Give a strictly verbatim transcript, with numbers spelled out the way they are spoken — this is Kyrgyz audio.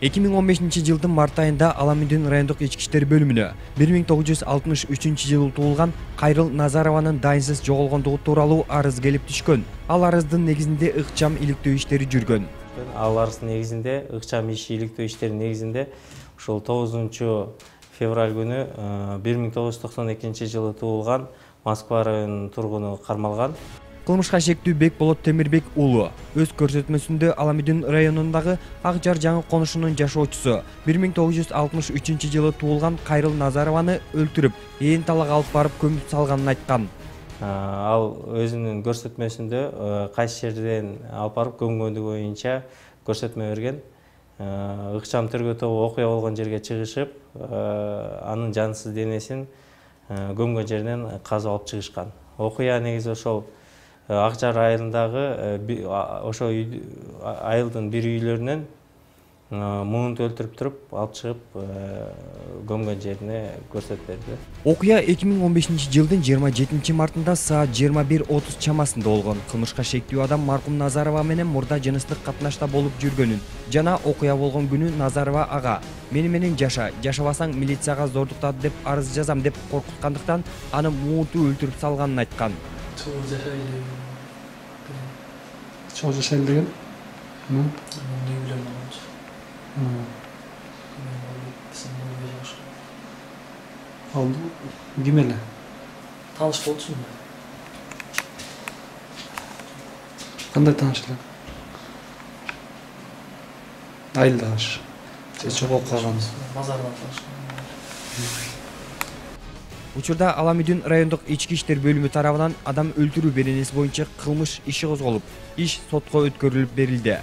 эки миң он бешинчи жылдын март айында Аламүдүн райондук ички иштер бөлүмүнө бир миң тогуз жүз алтымыш үчүнчү жылы туулган Кайрыл Назарованын дайынсыз жоголгондугу тууралуу арыз келип түшкөн. Ал арыздын негизинде ыкчам иликтөө иштери жүргөн. Ал арыздын негизинде ыкчам иш иликтөө иштеринин негизинде ушул тогузунчу февраль күнү бир миң тогуз жүз токсон экинчи жылы туулган Москва районунун тургуну кармалган. Кылмышка шектүү Бекболот Темирбек уулу өз көрсөтмөсүндө Аламүдүн районундагы Ак Жар жаңы конушунун жашоочусу бир миң тогуз жүз алтымыш үчүнчү жылы туулган Кайрыл Назарованы өлтүрүп, ээн талак алып барып көмүп салганын айткан. Ал өзүнүн көрсөтмөсүндө кайсы жерден алып барып көмгөндүгү боюнча көрсөтмө берген. Ыкчам тергөө тобу окуя болгон жерге чыгышып, анын жансыз денесин көмгөн жеринен казып алып чыгышкан. Окуя негизи ошол Ак Жар айылындагы ошо айылдын бир үйлөрүнөн муунту өлтүрүп туруп алып чыгып көмгөн жерине көрсөтүп берди. Окуя эки миң он бешинчи жылдын жыйырма жетинчи мартында саат жыйырма бир отуз чамасында болгон. Кылмышка шектүү адам маркум Назарова менен мурда жыныстык катнашта болуп жүргөнүн жана окуя болгон күнү Назарова ага мени менен жаша, жашабасаң милицияга зордуктат деп арыз жазам деп коркуткандыктан аны муунту өлтүрүп салганын айткан. Чоң жашайлы деген? Алды ким эле? Тааныш болчумун. Кандай тааныш эле? Айылдаш. Же чогулуп калган? Базардан таанышкан. Учурда Аламүдүн райондук ички иштер бөлүмү тарабынан адам өлтүрүү беренеси боюнча кылмыш иши козголуп, иш сотко өткөрүлүп берилди.